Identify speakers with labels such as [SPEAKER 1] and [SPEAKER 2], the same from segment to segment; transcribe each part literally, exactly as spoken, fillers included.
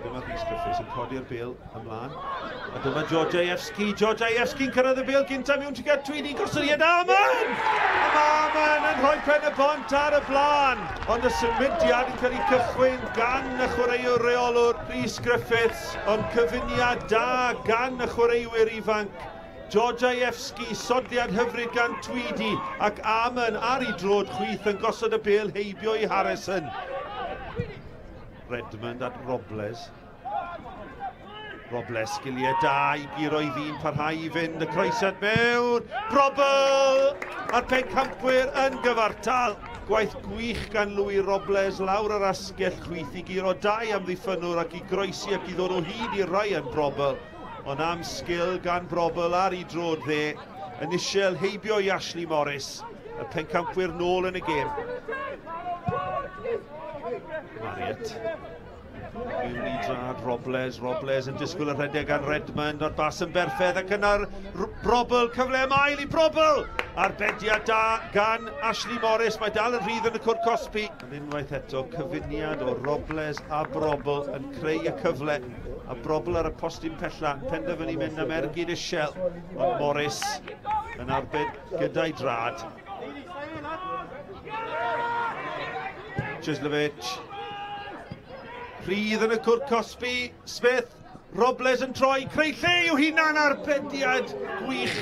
[SPEAKER 1] Dyma Rhys Griffiths yn codi'r bêl ymlaen. A dyma Georgievski. Georgievski'n cyrraedd y bêl gynta mewn tuag at Tweedy. Gosodiad Amon! A mae Amon yn rhoi Pen y Bont ar y blaen. Ond y symudiad yn cael ei cychwyn gan y chwaraewr reolwr Rhys Griffiths. Ond cyfuniad da gan y chwaraewyr ifanc. Georgievski, sodliad hyfryd gan Tweedy, ac Amon ar ei droed chwith yn gosod y bêl heibio i Harrison. Redmond at Robles. Robles, sgiliau da i guro i ddyn, parhau i fynd, y croesiad mewn. Brobbel! A'r pencampwyr yn gyfartal. Gwaith gwych gan Louis Robles lawr yr asgell chwith i guro dau amddiffynnwr ac i groesi ac i ddod o hyd i Ryan Brobbel. Ond am sgil gan Brobbel ar ei droed dde, yn isiel heibio i Ashley Morris. Y pencampwyr nôl yn y gêm. Marriott. Mewn i drad Robles, Robles yn disgwyl y rhedeg gan Redmond, o'r bas yn berffaith ac yna'r Brobbel, cyfle am ail i Brobbel! Arbediad da gan Ashley Morris, mae dal yn rhydd yn y cwrt cosbi. Yn unwaith eto, cyfuniad o Robles a Brobbel yn creu y cyfle. A Brobbel ar y postyn pella, penderfynu mynd am ergyd isiel, ond Morris yn arbed gyda'i drad. Chislovich. Rhydd yn y cwrt cosbi, Smith, Robles yn troi, creu lle i'w hunan, arbediad gwych.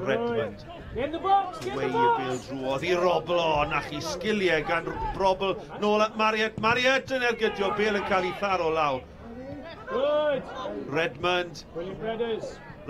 [SPEAKER 1] Redmond. Wei y bêl drwodd i Robel, o, na chi sgiliau gan Brobbel, nôl at Marriott, Marriott yn ergydio, bêl yn cael ei tharo lawr. Redmond.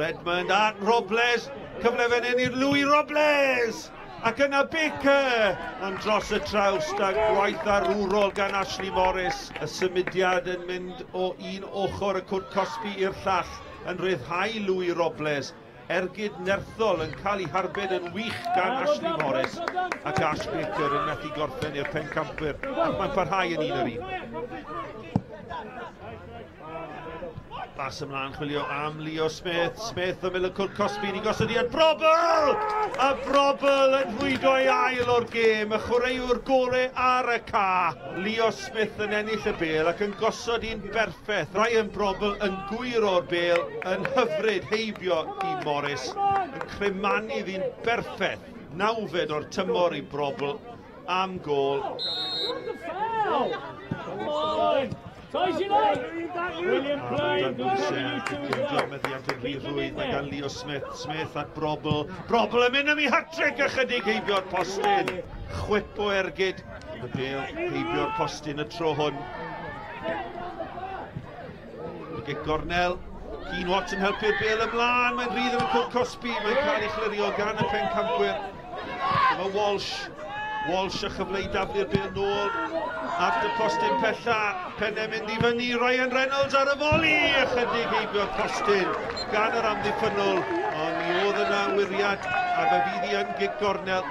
[SPEAKER 1] Redmond at Robles, cyfle fan hyn i'r Louis Robles! Ac yna Baker, ond dros y trawst a gwaith arwrol gan Ashley Morris. Y symudiad yn mynd o un ochr y cwrt cosbi i'r llall yn rhyddhau Louis Robles. Ergyd nerthol yn cael ei harbed yn wych gan Ashley Morris. Ac Ash Baker yn methu gorffen i'r pencampwyr. Ac mae'n parhau yn un yr un. Bas ymlaen chwilio am Leo Smith. Smith ymyl y cwrt cosbi i gosodiad Brobbel! A Brobbel yn rhwydo ei ail o'r gêm. Y chwaraewr gore ar y ca. Leo Smith yn ennill y bêl ac yn gosod un berffaith. Ryan Brobbel yn gwyro'r bêl yn hyfryd heibio i Morris. Yn cremanu ddyn berffaith. Nawfed o'r tymor i Brobbel am gôl. William Plain, mae gan Leo Smith, Smith at Brobbel, Brobbel yn mynd am ei hat-trick ychydig heibio'r postyn. Chwip o ergyd, y bêl heibio'r postyn y tro hwn. Y gic gornel, Keane Watson helpu'r bêl ymlaen, mae'n rhydd yn y cwrt cosbi, mae'n cael ei chlirio gan y pencampwyr. Dyma Walsh, Walsh a chyfle i daflu'r bêl nôl at y postyn pella, pennau mynd i fyny, Ryan Reynolds ar y foli, ychydig heibio'r postyn gan yr amddiffynnol, ond mi oedd yna wyriad a fe fydd hi yn gic gornel.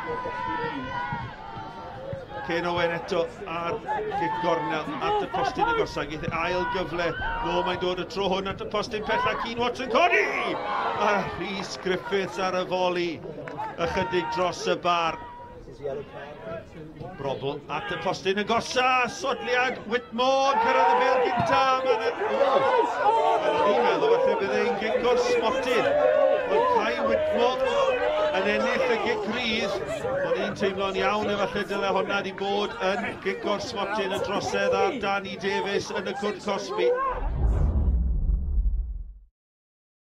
[SPEAKER 1] Ken Owen eto ar gic gornel at y postyn agosaf, geith ail gyfle, no mae'n dod y tro hwn at y postyn pella, Keane Watson codi! A Rhys Griffiths ar y foli, ychydig dros y bar. Brobbel at y postyn agosa, sodliad Whitmore, cyrraedd y bêl gynta. O'n i'n meddwl falle bydd e'n gic o'r smotyn. Ond Kai Whitmore yn ennill y gic rydd. O'n i'n teimlo'n iawn efallai dyle honna wedi bod yn gic o'r smotyn, y drosedd ar Danny Davies yn y cwrt cosbi.